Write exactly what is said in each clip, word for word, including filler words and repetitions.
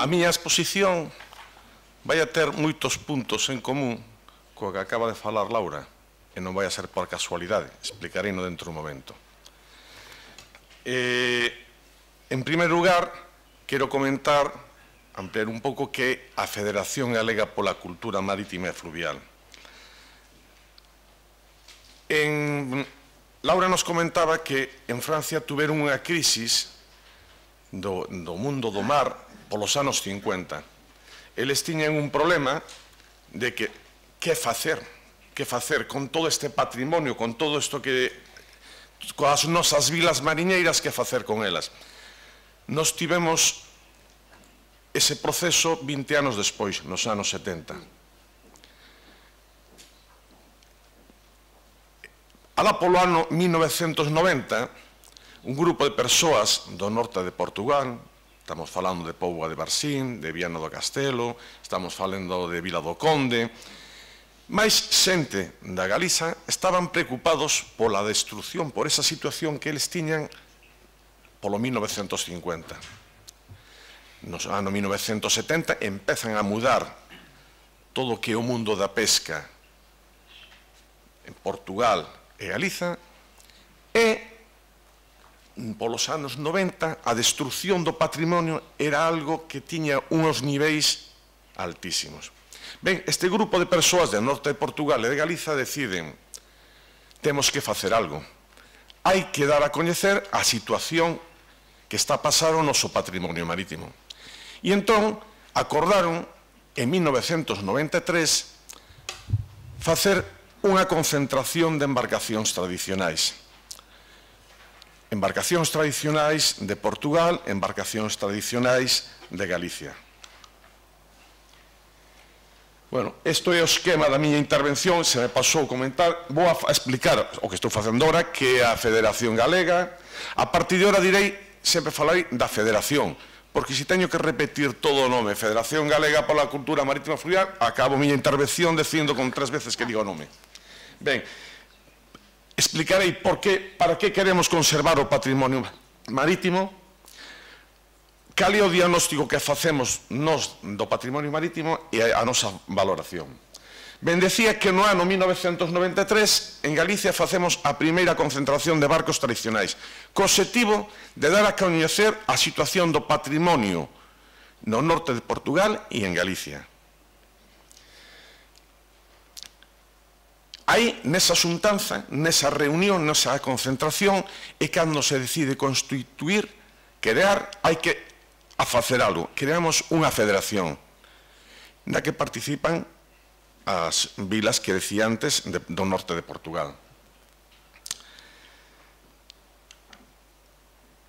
a miña exposición vai a ter moitos puntos en común co que acaba de falar Laura, e non vai a ser por casualidade, explicarei no dentro un momento. Eh, en primeiro lugar, quero comentar, ampliar un pouco, que a Federación Galega pola Cultura Marítima e Fluvial. En, Laura nos comentaba que en Francia tuveron unha crisis do, do mundo do mar polos anos cincuenta. Eles tiñan un problema de que que facer, que facer con todo este patrimonio, con todo isto que, coas nosas vilas mariñeiras, que facer con elas. Nos tivemos ese proceso vinte anos despois, nos anos setenta. Alá polo ano mil novecentos noventa, un grupo de persoas do norte de Portugal, estamos falando de Póvoa de Varzín, de Viana do Castelo, estamos falando de Vila do Conde, máis xente da Galiza estaban preocupados pola destrucción, por esa situación que eles tiñan polo mil novecentos cincuenta. No ano mil novecentos setenta empezan a mudar todo o que é o mundo da pesca en Portugal e Galiza, e polos anos noventa a destrucción do patrimonio era algo que tiña uns niveis altísimos. Ben, este grupo de persoas do norte de Portugal e de Galiza deciden: temos que facer algo, hai que dar a coñecer a situación que está a pasar o noso patrimonio marítimo. E entón acordaron en mil novecentos noventa e tres facer unha concentración de embarcacións tradicionais. Embarcacións tradicionais de Portugal, embarcacións tradicionais de Galicia. Bueno, isto é o esquema da miña intervención, se me pasou comentar, vou a explicar o que estou facendo agora, que é a Federación Galega. A partir de agora direi, sempre falarei da Federación, porque se teño que repetir todo o nome, Federación Galega pola Cultura Marítima e Fluvial, acabo a miña intervención dicindo con tres veces que digo o nome. Ben, explicarei por que, para que queremos conservar o patrimonio marítimo, cal é o diagnóstico que facemos nos do patrimonio marítimo e a nosa valoración. Ben, decía que no ano mil novecentos noventa e tres en Galicia facemos a primeira concentración de barcos tradicionais, co obxectivo de dar a coñecer a situación do patrimonio no norte de Portugal e en Galicia. Aí, nesa xuntanza, nesa reunión, nesa concentración, é cando se decide constituir, crear, hai que a facer algo. Creamos unha federación na que participan as vilas que decía antes de, do norte de Portugal.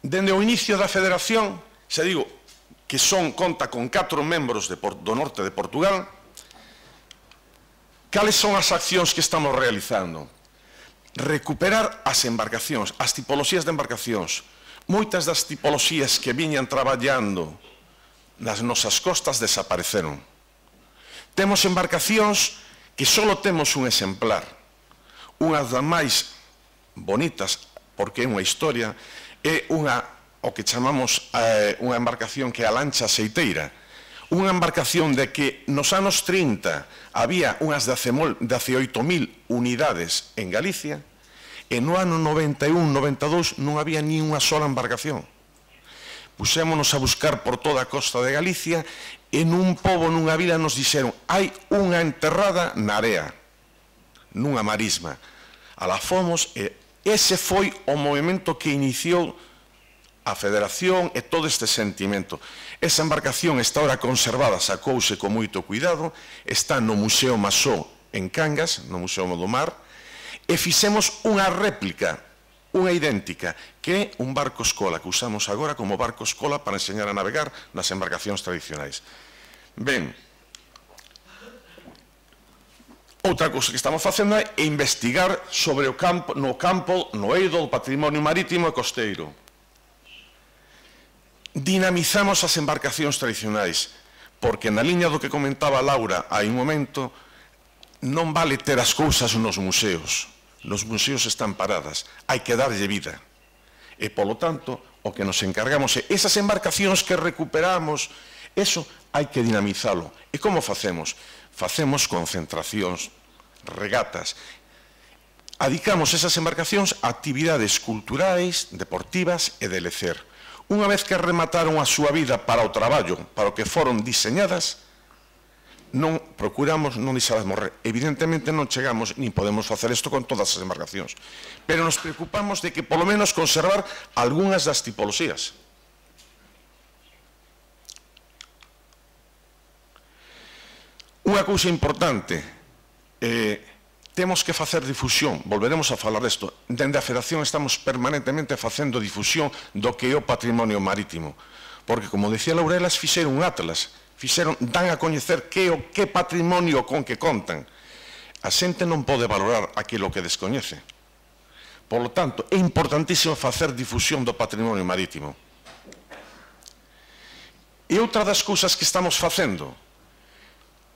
Dende o inicio da federación, se digo que son, conta con catro membros de, do norte de Portugal. Cales son as accións que estamos realizando? Recuperar as embarcacións, as tipoloxías de embarcacións. Moitas das tipoloxías que viñan traballando nas nosas costas desapareceron. Temos embarcacións que só temos un exemplar. Unha das máis bonitas, porque é unha historia, é unha, o que chamamos eh, unha embarcación que é a lancha aceiteira. Unha embarcación de que nos anos trinta había unhas dezaoito mil unidades en Galicia e no ano noventa e un, noventa e dous non había ni unha sola embarcación. Pusémonos a buscar por toda a costa de Galicia e nun pobo, nunha vila, nos dixeron: hai unha enterrada na area, nunha marisma. Alá fomos e ese foi o movimento que iniciou a Federación e todo este sentimento. Esa embarcación está ahora conservada, sacouse con moito cuidado, está no Museo Masó en Cangas, no Museo do Mar, e fixemos unha réplica, unha idéntica, que é un barco escola, que usamos agora como barco escola para enseñar a navegar nas embarcacións tradicionais. Ben, outra cousa que estamos facendo é investigar sobre o campo, no campo, no eido do patrimonio marítimo e costeiro. Dinamizamos as embarcacións tradicionais, porque na liña do que comentaba Laura hai un momento, non vale ter as cousas nos museos. Nos museos están paradas, hai que darlle vida. E, polo tanto, o que nos encargamos é esas embarcacións que recuperamos Eso hai que dinamizalo. E como facemos? Facemos concentracións, regatas. Adicamos esas embarcacións a actividades culturais, deportivas e de lecer. Unha vez que remataron a súa vida para o traballo, para o que foron diseñadas, non procuramos non deixalas morrer. Evidentemente non chegamos, nin podemos facer isto con todas as embarcacións, pero nos preocupamos de que polo menos conservar algunhas das tipoloxías. Unha cousa importante, eh, temos que facer difusión, volveremos a falar desto. Dende a Federación estamos permanentemente facendo difusión do que é o patrimonio marítimo, porque, como decía Laura, elas fixeron un atlas, fixeron, dan a coñecer que o que patrimonio con que contan. A xente non pode valorar aquilo que descoñece. Por lo tanto, é importantísimo facer difusión do patrimonio marítimo. E outra das cousas que estamos facendo,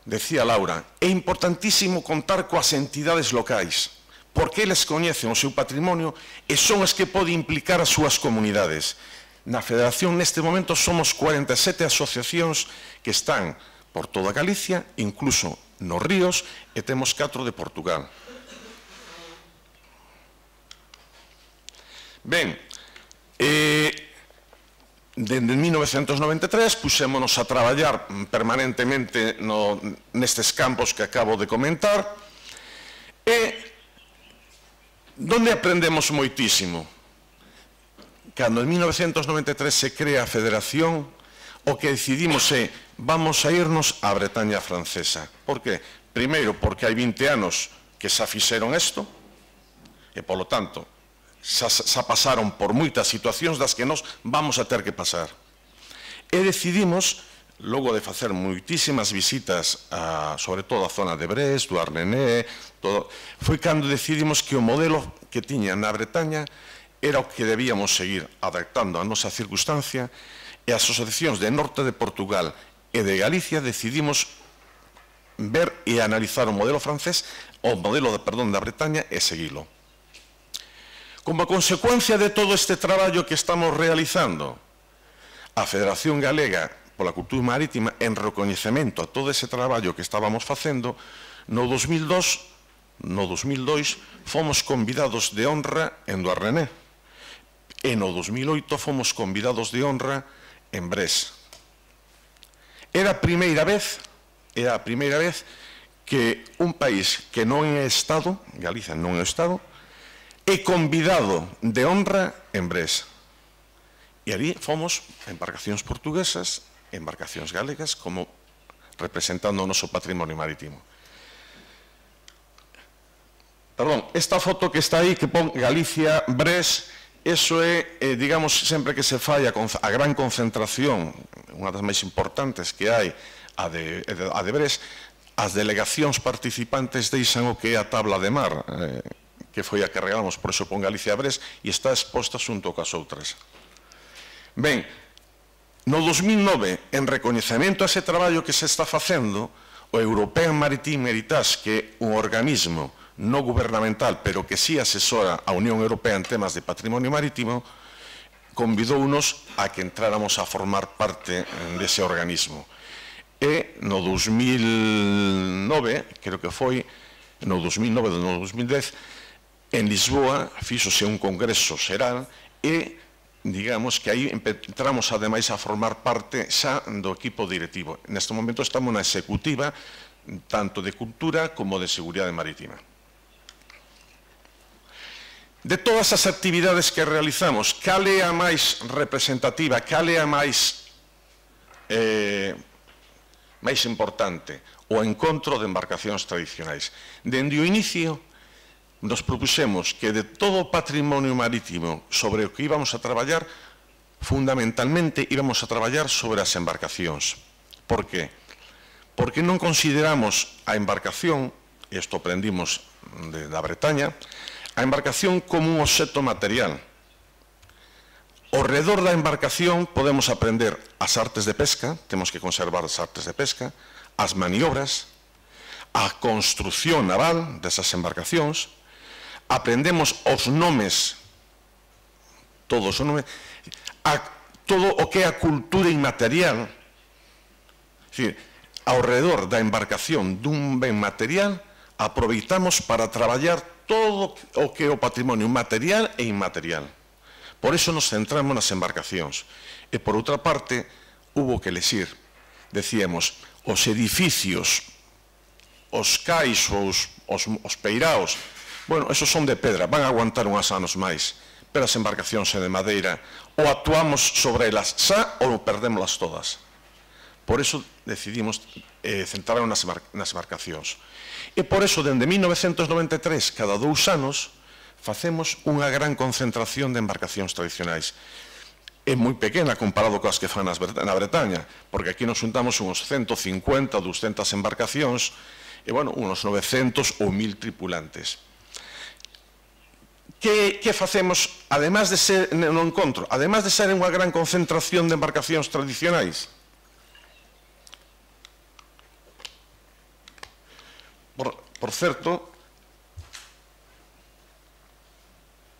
decía Laura, é importantísimo contar coas entidades locais, porque eles coñecen o seu patrimonio e son as que poden implicar as súas comunidades. Na Federación, neste momento, somos cuarenta e sete asociacións que están por toda Galicia, incluso nos ríos, e temos catro de Portugal. Ben, eh, dende mil novecentos noventa e tres puxémonos a traballar permanentemente no, nestes campos que acabo de comentar, e donde aprendemos moitísimo. Cando en mil novecentos noventa e tres se crea a Federación, o que decidimos é, vamos a irnos á Bretaña francesa. Por que? Primeiro, porque hai vinte anos que xa fixeron isto, e, polo tanto, xa, xa pasaron por moitas situacións das que nós vamos a ter que pasar. E decidimos, logo de facer moitísimas visitas, a, sobre todo a zona de Brest, do Arnené, todo, foi cando decidimos que o modelo que tiña na Bretaña era o que debíamos seguir adaptando a nosa circunstancia, e as asociacións de norte de Portugal e de Galicia decidimos ver e analizar o modelo francés, o modelo, de, perdón, da Bretaña, e seguilo. Como consecuencia de todo este traballo que estamos realizando, a Federación Galega pola Cultura Marítima, en recoñecemento a todo ese traballo que estábamos facendo, no dos mil dos, no dos mil dois, fomos convidados de honra en do Arnené. E no dos mil oito fomos convidados de honra en Brest. Era a primeira vez, era a primeira vez que un país que non é Estado, Galicia non é Estado, é convidado de honra en Brest. E ali fomos embarcacións portuguesas, embarcacións galegas, como representando o noso patrimonio marítimo. Perdón, esta foto que está aí, que pon Galicia, Brest, eso é, eh, digamos, sempre que se fai a, a gran concentración, unha das máis importantes que hai, a de, a de Brest, as delegacións participantes deixan o que é a tabla de mar, eh, que foi a que regalamos, por eso pon Galicia a Brest, e está exposta xunto cas outras. Ben, no dos mil nove, en recoñecemento a ese traballo que se está facendo, o European Maritime Heritage, que é un organismo no gubernamental, pero que sí asesora a Unión Europea en temas de patrimonio marítimo, convidounos a que entráramos a formar parte dese organismo. E no dos mil nove, creo que foi, no dos mil nove, no dos mil dez, en Lisboa fíxose un congreso xeral e, digamos, que aí entramos ademais a formar parte xa do equipo directivo. Neste momento estamos na executiva, tanto de cultura como de seguridade marítima. De todas as actividades que realizamos, cal é a máis representativa, cal é a máis, eh, máis importante? O encontro de embarcacións tradicionais. Dende o inicio, nos propuxemos que de todo o patrimonio marítimo sobre o que íbamos a traballar, fundamentalmente íbamos a traballar sobre as embarcacións. Por que? Porque non consideramos a embarcación, e isto aprendimos de, da Bretaña, a embarcación como un obxecto material. Ao redor da embarcación podemos aprender as artes de pesca, temos que conservar as artes de pesca, as maniobras, a construción naval desas embarcacións, aprendemos os nomes, todos os nomes, a todo o que é a cultura inmaterial, É dicir, ao redor da embarcación dun ben material, aproveitamos para traballar todo o que é o patrimonio material e inmaterial. Por iso nos centramos nas embarcacións. E, por outra parte, hubo que lexir. Decíamos, os edificios, os cais, os, os, os peiraos, bueno, esos son de pedra, van a aguantar unhas anos máis, pero as embarcacións son de madeira, ou actuamos sobre elas xa ou perdémolas todas. Por iso decidimos eh, centrarnos nas, nas embarcacións. E por iso, dende mil novecentos noventa e tres, cada dous anos, facemos unha gran concentración de embarcacións tradicionais. É moi pequena comparado coas que fan nas, na Bretaña, porque aquí nos juntamos uns ciento cincuenta ou doscientas embarcacións e, bueno, uns novecentos ou mil tripulantes. Que, que facemos, además de ser no encontro, además de ser unha gran concentración de embarcacións tradicionais? Por, por certo,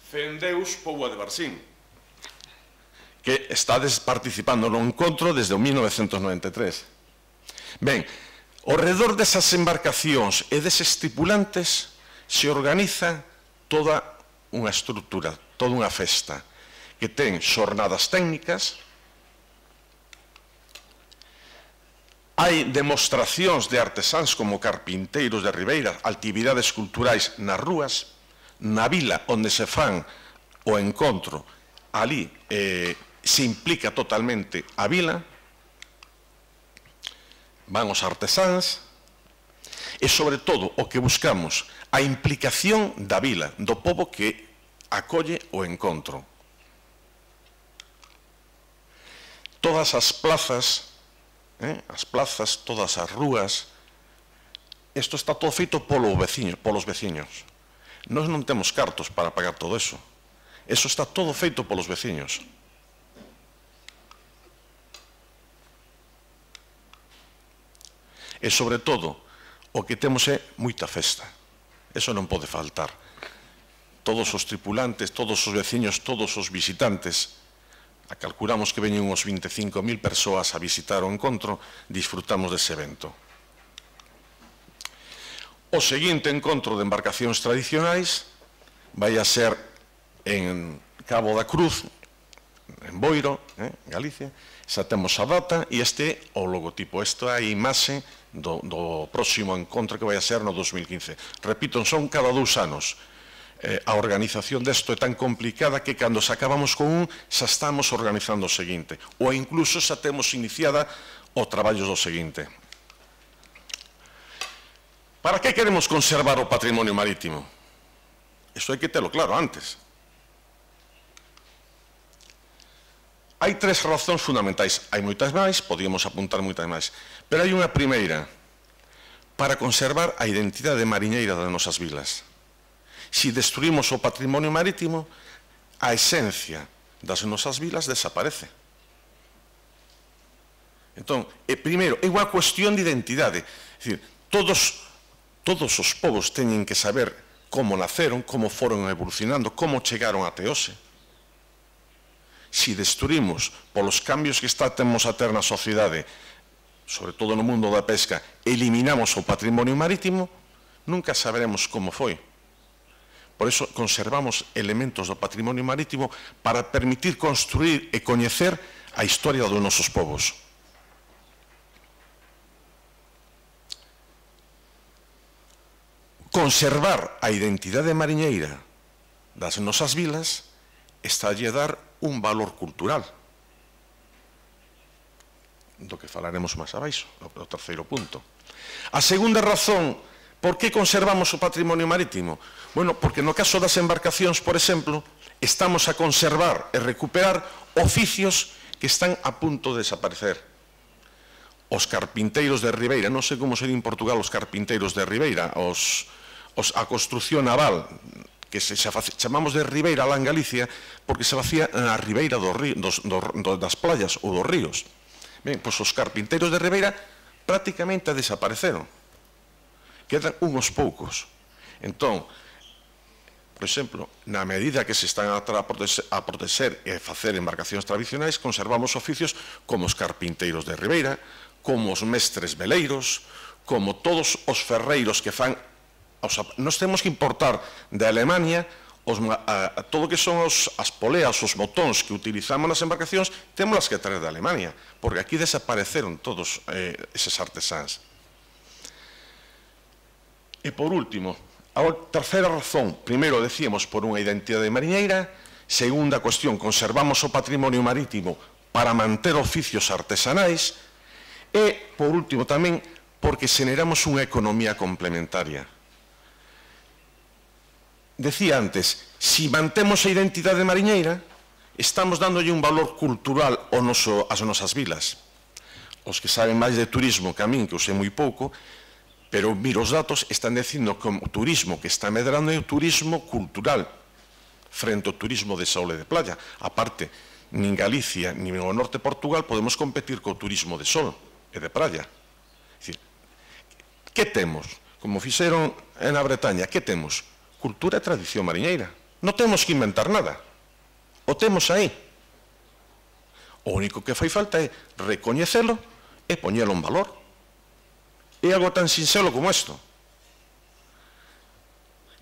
Fendeus Poua de Barsín, que estades participando no encontro desde o mil novecentos noventa e tres. Ben, ao redor desas embarcacións e deses tripulantes se organiza toda unha estrutura, toda unha festa, que ten xornadas técnicas, hai demostracións de artesáns como carpinteiros de Ribeira, actividades culturais nas rúas, na vila onde se fan o encontro, ali eh, se implica totalmente a vila, van os artesáns, e sobre todo o que buscamos, a implicación da vila, do pobo que acolle o encontro. Todas as plazas, eh, as plazas, todas as rúas, isto está todo feito polos veciños, polos veciños. Nós non temos cartos para pagar todo eso. Eso está todo feito polos veciños. E, sobre todo, o que temos é moita festa. Eso non pode faltar. Todos os tripulantes, todos os veciños, todos os visitantes, a calculamos que veñen uns vinte e cinco mil persoas a visitar o encontro, disfrutamos dese evento. O seguinte encontro de embarcacións tradicionais vai a ser en Cabo da Cruz, en Boiro, eh, Galicia. Xa temos a data e este é o logotipo. Esta é a imaxe do, do próximo encontro que vai a ser no dos mil quince. Repito, son cada dous anos. Eh, a organización desto é tan complicada que cando se acabamos con un xa estamos organizando o seguinte, ou incluso xa temos iniciada o traballo do seguinte. Para que queremos conservar o patrimonio marítimo? Isto hai que telo claro antes. Hai tres razóns fundamentais. Hai moitas máis, podíamos apuntar moitas máis, pero hai unha primeira, para conservar a identidade mariñeira das nosas vilas. Se destruímos o patrimonio marítimo, a esencia das nosas vilas desaparece. Entón, e, primeiro, é unha cuestión de identidade. É dicir, todos, todos os povos teñen que saber como naceron, como foron evolucionando, como chegaron até hoxe. Se destruímos polos cambios que está temos a ter na sociedade, sobre todo no mundo da pesca, eliminamos o patrimonio marítimo, nunca saberemos como foi. Por iso conservamos elementos do patrimonio marítimo para permitir construir e coñecer a historia dos nosos povos. Conservar a identidade mariñeira das nosas vilas está a lle dar un valor cultural, do que falaremos máis abaixo, no terceiro punto. A segunda razón, por que conservamos o patrimonio marítimo? Bueno, porque no caso das embarcacións, por exemplo, estamos a conservar e recuperar oficios que están a punto de desaparecer. Os carpinteiros de Ribeira, non sei como ser en Portugal os carpinteiros de Ribeira, os, os, a construcción naval, que se, se chamamos de Ribeira lá en Galicia, porque se facía na ribeira do río, dos, do, do, das playas ou dos ríos. Ben, pois os carpinteiros de Ribeira prácticamente desapareceron. Quedan unhos poucos. Entón, por exemplo, na medida que se están a protexer, a protexer e facer embarcacións tradicionais, conservamos oficios como os carpinteiros de Ribeira, como os mestres veleiros, como todos os ferreiros que fan... Nós temos que importar de Alemania os, a, a, todo o que son os, as poleas, os botóns que utilizamos nas embarcacións, temos as que traer de Alemania, porque aquí desapareceron todos eh, eses artesáns. E por último, a terceira razón, primeiro decíamos por unha identidade mariñeira, segunda cuestión, conservamos o patrimonio marítimo para manter oficios artesanais e, por último, tamén porque xeneramos unha economía complementaria. Decía antes, si mantemos a identidade mariñeira, estamos dándolle un valor cultural ao noso, ás nosas vilas. Os que saben máis de turismo que a min, que eu sei moi pouco, pero miro os datos, están dicindo que o turismo que está medrando é o turismo cultural frente ao turismo de sol e de playa. A parte, nin Galicia, nin o norte de Portugal podemos competir co turismo de sol e de playa. É dicir, que temos? Como fixeron na Bretaña, que temos? Cultura e tradición mariñeira. Non temos que inventar nada. O temos aí. O único que fai falta é recoñecelo e poñelo en valor. É algo tan sinxelo como isto.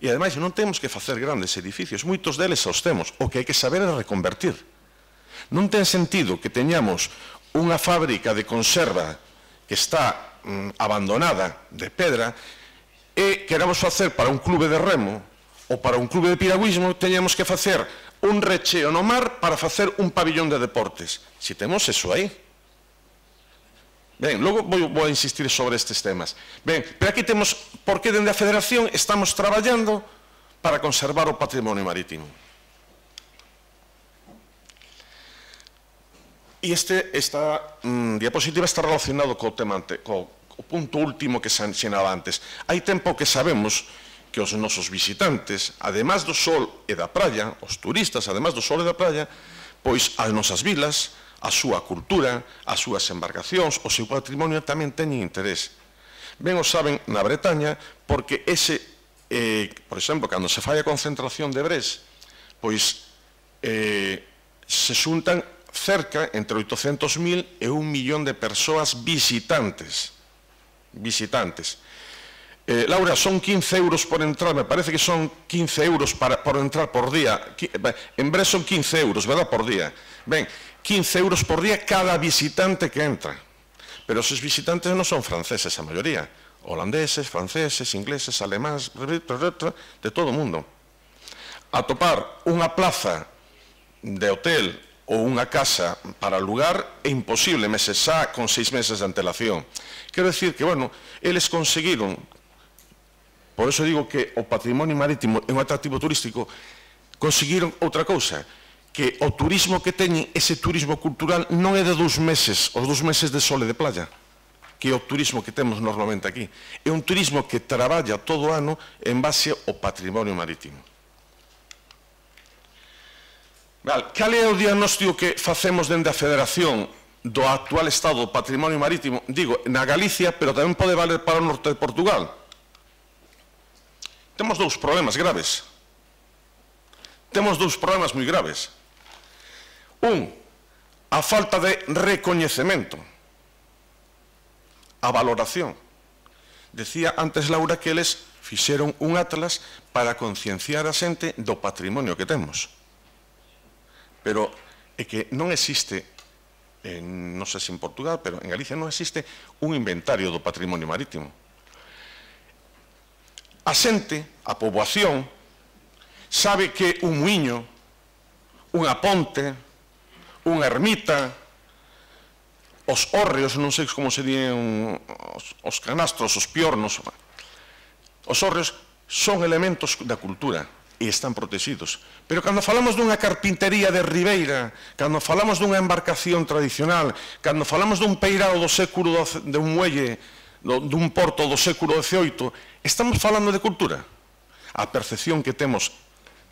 E, ademais, non temos que facer grandes edificios. Moitos deles os temos. O que hai que saber é reconvertir. Non ten sentido que teñamos unha fábrica de conserva que está mm, abandonada de pedra e queramos facer para un clube de remo ou para un clube de piragüismo, teñamos que facer un recheo no mar para facer un pabillón de deportes. Si temos eso aí. Ben, logo vou, vou a insistir sobre estes temas. Ben, pero aquí temos por que dende a Federación estamos traballando para conservar o patrimonio marítimo. E este, esta mm, diapositiva está relacionado co tema ante, co, o punto último que se ensinaba antes. Hai tempo que sabemos que os nosos visitantes, además do sol e da praia, os turistas, además do sol e da praia, pois as nosas vilas, a súa cultura, as súas embarcacións, o seu patrimonio tamén teñen interés. Ben o saben na Bretaña, porque ese, eh, por exemplo, cando se fai a concentración de Brest, pois eh, se xuntan cerca entre oitocentos mil e un millón de persoas visitantes. visitantes. Eh, Laura, son quince euros por entrar, me parece que son quince euros para, por entrar por día. En Brest son quince euros, verdad, por día. Ben, quince euros por día cada visitante que entra. Pero esos visitantes non son franceses, a maioría. Holandeses, franceses, ingleses, alemáns, de todo o mundo. A topar unha plaza de hotel ou unha casa para alugar é imposible meses xa con seis meses de antelación. Quero dicir que, bueno, eles conseguiron, por eso digo que o patrimonio marítimo é un atractivo turístico, conseguiron outra cousa, que o turismo que teñen, ese turismo cultural, non é de dous meses, os dous meses de sol e de playa, que é o turismo que temos normalmente aquí. É un turismo que traballa todo o ano en base ao patrimonio marítimo. Cal é o diagnóstico que facemos dende a Federación do actual estado do patrimonio marítimo? Digo, na Galicia, pero tamén pode valer para o norte de Portugal. Temos dous problemas graves. Temos dous problemas moi graves. Un, a falta de recoñecemento, a valoración. Decía antes Laura que eles fixeron un atlas para concienciar a xente do patrimonio que temos. Pero é que non existe, eh, non sei se en Portugal, pero en Galicia non existe un inventario do patrimonio marítimo. A xente, a poboación, sabe que un muiño, unha ponte, unha ermita, os hórreos, non sei como se dían os, os canastros, os piornos, os hórreos son elementos da cultura e están protegidos. Pero cando falamos dunha carpintería de Ribeira, cando falamos dunha embarcación tradicional, cando falamos dun peirao do século de un muelle, dun porto do século dezioito, estamos falando de cultura. A percepción que temos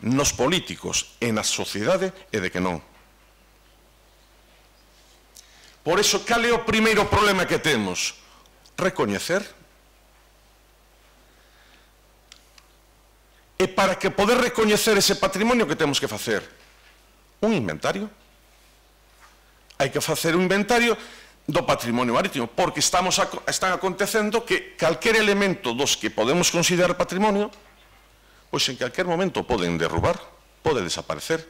nos políticos e na sociedade é de que non. Por iso, cal é o primeiro problema que temos? Recoñecer. E para que poder recoñecer ese patrimonio, que temos que facer? Un inventario. Hai que facer un inventario do patrimonio marítimo, porque estamos a, están acontecendo que calquer elemento dos que podemos considerar patrimonio, pois en calquer momento poden derrubar, pode desaparecer,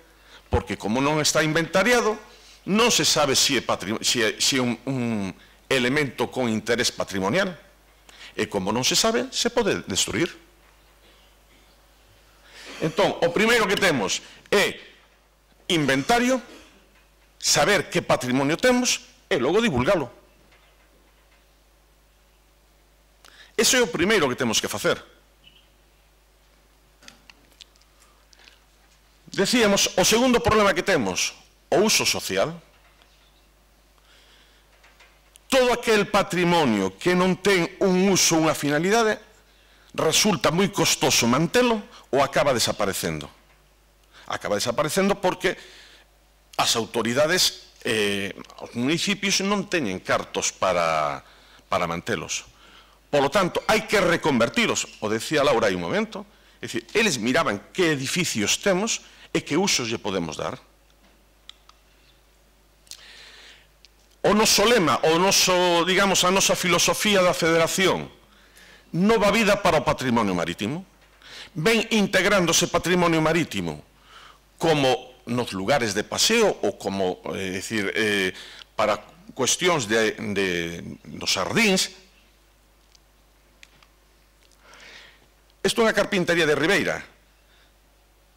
porque como non está inventariado, non se sabe se é, si é, si é un, un elemento con interés patrimonial, e como non se sabe, se pode destruir. Entón, o primeiro que temos é inventario, saber que patrimonio temos e logo divulgalo. Ese é o primeiro que temos que facer. Decíamos, o segundo problema que temos, o uso social. Todo aquel patrimonio que non ten un uso, unha finalidade, resulta moi costoso mantelo ou acaba desaparecendo. Acaba desaparecendo porque as autoridades, eh, os municipios non teñen cartos para, para mantelos. Por lo tanto, hai que reconvertilos. O decía Laura hai un momento. É dicir, eles miraban que edificios temos e que usos lle podemos dar. O noso lema, o noso, digamos, a nosa filosofía da Federación, nova vida para o patrimonio marítimo, ven integrándose patrimonio marítimo como nos lugares de paseo ou como, é dicir, eh, para cuestións de, de, dos sardíns. Isto é unha carpintería de Ribeira.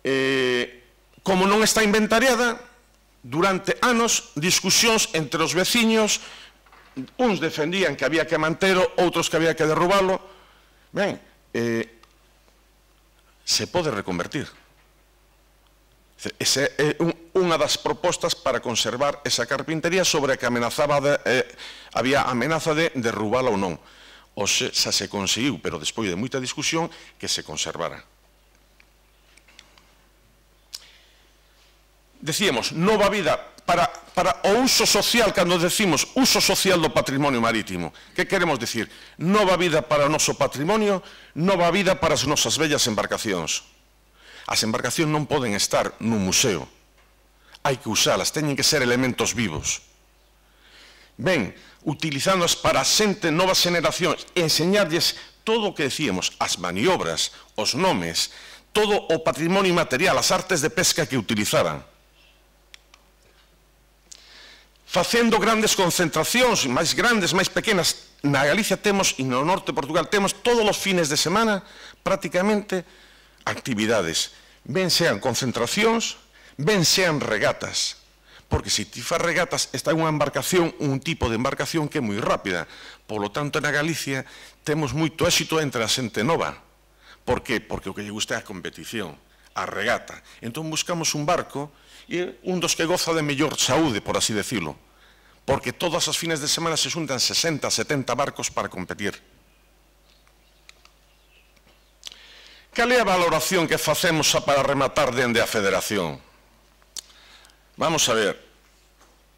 Eh, como non está inventariada, durante anos, discusións entre os veciños, uns defendían que había que mantelo, outros que había que derrubalo. Ben, eh, se pode reconvertir. Esa é un, unha das propostas para conservar esa carpintería sobre a que amenazaba de, eh, había amenaza de derrubala ou non. O se, xa se conseguiu, pero despois de moita discusión, que se conservara. Decíamos, nova vida para, para o uso social, cando decimos uso social do patrimonio marítimo. Que queremos dicir? Nova vida para o noso patrimonio, nova vida para as nosas bellas embarcacións. As embarcacións non poden estar nun museo. Hai que usalas, teñen que ser elementos vivos. Ben, utilizándoas para a xente, novas generacións, enseñarlles todo o que decíamos, as maniobras, os nomes, todo o patrimonio material, as artes de pesca que utilizaban. Facendo grandes concentracións, máis grandes, máis pequenas. Na Galicia temos, e no norte de Portugal, temos todos os fines de semana, prácticamente, actividades. Ben sean concentracións, ben sean regatas. Porque se ti faz regatas, está unha embarcación, un tipo de embarcación que é moi rápida. Por lo tanto, na Galicia temos moito éxito entre a xente nova. Por que? Porque o que lle gusta é a competición, a regata. Entón buscamos un barco e un dos que goza de mellor saúde, por así decirlo. Porque todas as fines de semana se xuntan sesenta, setenta barcos para competir. Cal é a valoración que facemos para rematar dende a Federación? Vamos a ver.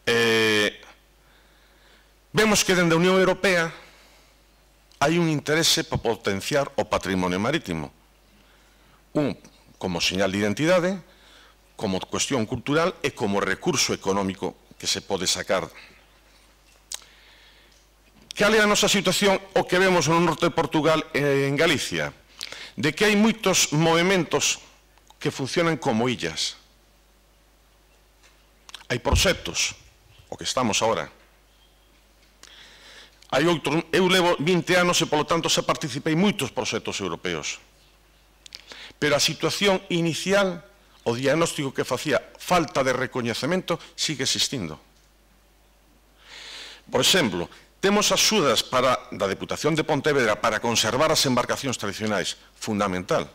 Eh, vemos que dende a Unión Europea hai un interese para potenciar o patrimonio marítimo. Un, como señal de identidade, como cuestión cultural e como recurso económico que se pode sacar. Cal é a nosa situación o que vemos no norte de Portugal e en Galicia? De que hai moitos movementos que funcionan como illas. Hai proxectos, o que estamos agora. Hai outros, eu levo vinte anos e, polo tanto, xa participei en moitos proxectos europeos. Pero a situación inicial, o diagnóstico que facía, falta de recoñecemento, sigue existindo. Por exemplo, temos axudas para, da Deputación de Pontevedra para conservar as embarcacións tradicionais, fundamental.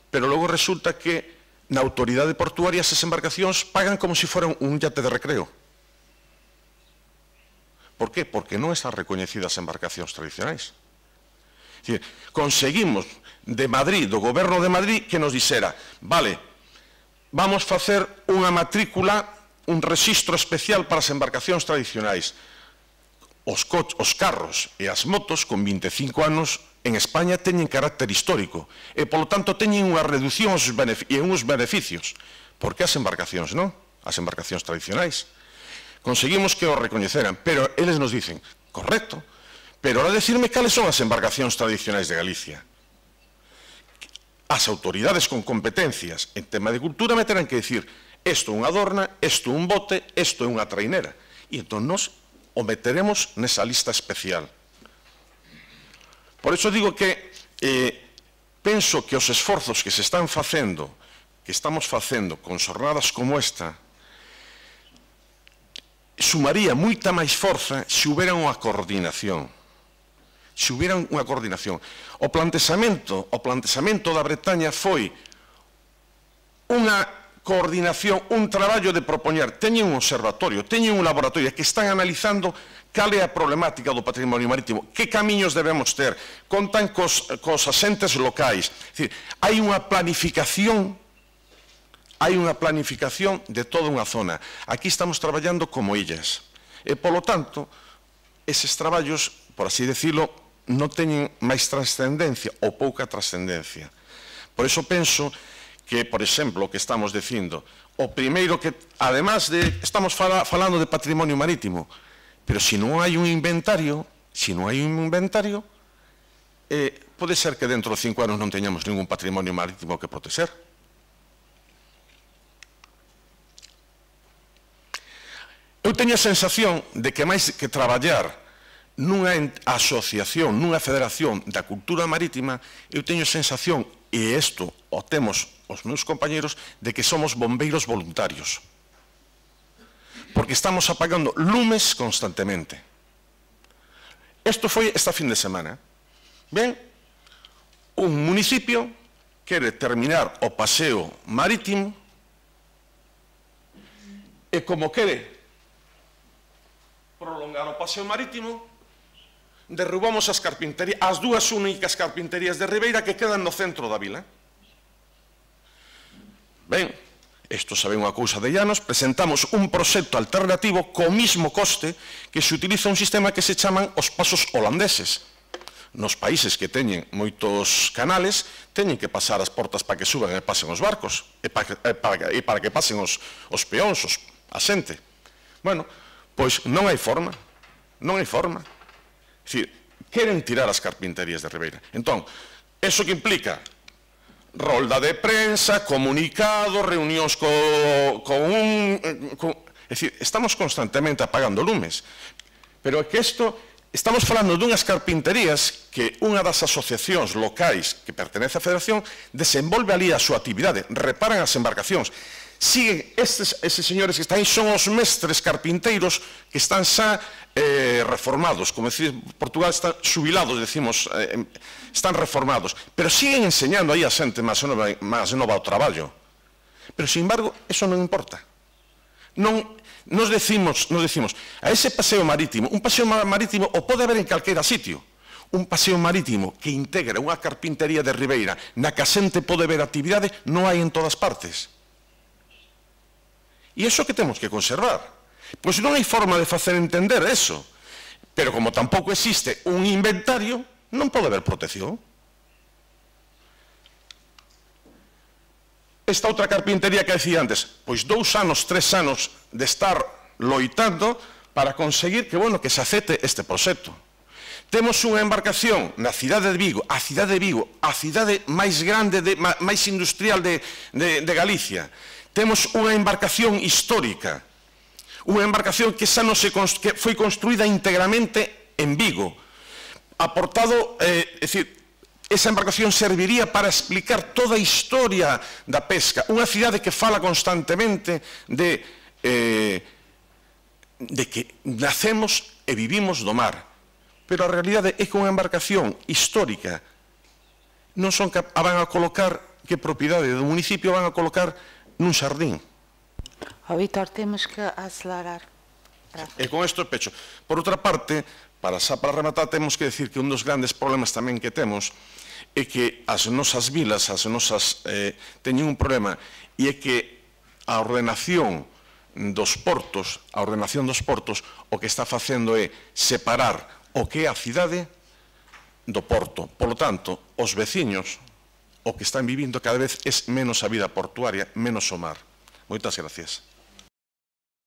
Pero logo resulta que na autoridade portuaria esas embarcacións pagan como se foran un yate de recreo. Por que? Porque non están recoñecidas as embarcacións tradicionais. É dicir, conseguimos de Madrid, do goberno de Madrid, que nos dixera, vale, vamos facer unha matrícula, un rexistro especial para as embarcacións tradicionais. Os, os carros e as motos con vinte e cinco anos en España teñen carácter histórico e, polo tanto, teñen unha reducción e uns beneficios. Por que as embarcacións non? As embarcacións tradicionais. conseguimos que o recoñeceran, pero eles nos dicen, correcto, pero ahora decirme cales son as embarcacións tradicionais de Galicia. As autoridades con competencias en tema de cultura me terán que dicir isto é unha adorna, isto é un bote, isto é unha trainera. E entón nos o meteremos nesa lista especial. Por iso digo que eh, penso que os esforzos que se están facendo, que estamos facendo con xornadas como esta, sumaría moita máis forza se houbera unha coordinación. Se houbera unha coordinación. O planteamento, o planteamento da Bretaña foi unha coordinación, un traballo de propoñer. Teñen un observatorio, teñen un laboratorio que están analizando cal é a problemática do patrimonio marítimo, que camiños debemos ter, contan cos, cos asentes locais. É dicir, hai unha planificación, hai unha planificación de toda unha zona. Aquí estamos traballando como illas. E, polo tanto, eses traballos, por así decirlo, non teñen máis trascendencia ou pouca trascendencia. Por iso penso que, por exemplo, o que estamos dicindo, o primeiro que, además de, estamos fala, falando de patrimonio marítimo, pero se non hai un inventario, se non hai un inventario, eh, pode ser que dentro de cinco anos non teñamos ningún patrimonio marítimo que proteger. Eu teño a sensación de que máis que traballar nunha asociación, nunha federación da cultura marítima, eu teño a sensación, e isto o temos os meus compañeros, de que somos bombeiros voluntarios. Porque estamos apagando lumes constantemente. Isto foi esta fin de semana. Ben, un municipio quere terminar o paseo marítimo e como quere prolongar o paseo marítimo, derrubamos as carpinterías, as dúas únicas carpinterías de Ribeira que quedan no centro da vila. Ben, isto sabe unha cousa de Llanos, presentamos un proxecto alternativo co mismo coste que se utiliza un sistema que se chaman os pasos holandeses. Nos países que teñen moitos canales, teñen que pasar as portas para que suban e pasen os barcos, e para que, e para, e para que pasen os, os peóns, os, a xente. Bueno, pois non hai forma, non hai forma. É dicir, queren tirar as carpinterías de Ribeira. Entón, eso que implica rolda de prensa, comunicados, reunións co, con un... Con, é dicir, estamos constantemente apagando lumes. Pero é que isto, estamos falando dunhas carpinterías que unha das asociacións locais que pertenece á Federación desenvolve ali a súa actividade, reparan as embarcacións. Siguen, estes, estes señores que están aí son os mestres carpinteiros que están xa eh, reformados, como decir, Portugal está xubilados, decimos, eh, están reformados, pero siguen enseñando aí a xente máis nova, máis nova ao traballo. Pero, sin embargo, eso non importa. Non, nos decimos, nos decimos, a ese paseo marítimo, un paseo marítimo o pode haber en calquera sitio, un paseo marítimo que integra unha carpintería de Ribeira na que a xente pode ver actividade, non hai en todas partes. E iso que temos que conservar. Pois non hai forma de facer entender eso. Pero como tampouco existe un inventario, non pode haber protección. Esta outra carpintería que decía antes, pois dous anos, tres anos de estar loitando para conseguir que, bueno, que se acepte este proxecto. Temos unha embarcación na cidade de Vigo, a cidade de Vigo, a cidade máis grande, de, máis industrial de, de, de Galicia. Temos unha embarcación histórica, unha embarcación que xa non se que foi construída íntegramente en Vigo. Aportado, eh, é dicir, esa embarcación serviría para explicar toda a historia da pesca. Unha cidade que fala constantemente de, eh, de que nacemos e vivimos do mar. Pero a realidade é que unha embarcación histórica non son cap a van a colocar, que propiedade do municipio van a colocar nun xardín. O Víctor, temos que acelerar. E con isto pecho. Por outra parte, para xa para rematar, temos que decir que un dos grandes problemas tamén que temos é que as nosas vilas, as nosas, eh, teñen un problema, e é que a ordenación dos portos, a ordenación dos portos, o que está facendo é separar o que é a cidade do porto. Por lo tanto, os veciños, o que están vivindo cada vez é menos a vida portuaria, menos o mar. Moitas gracias.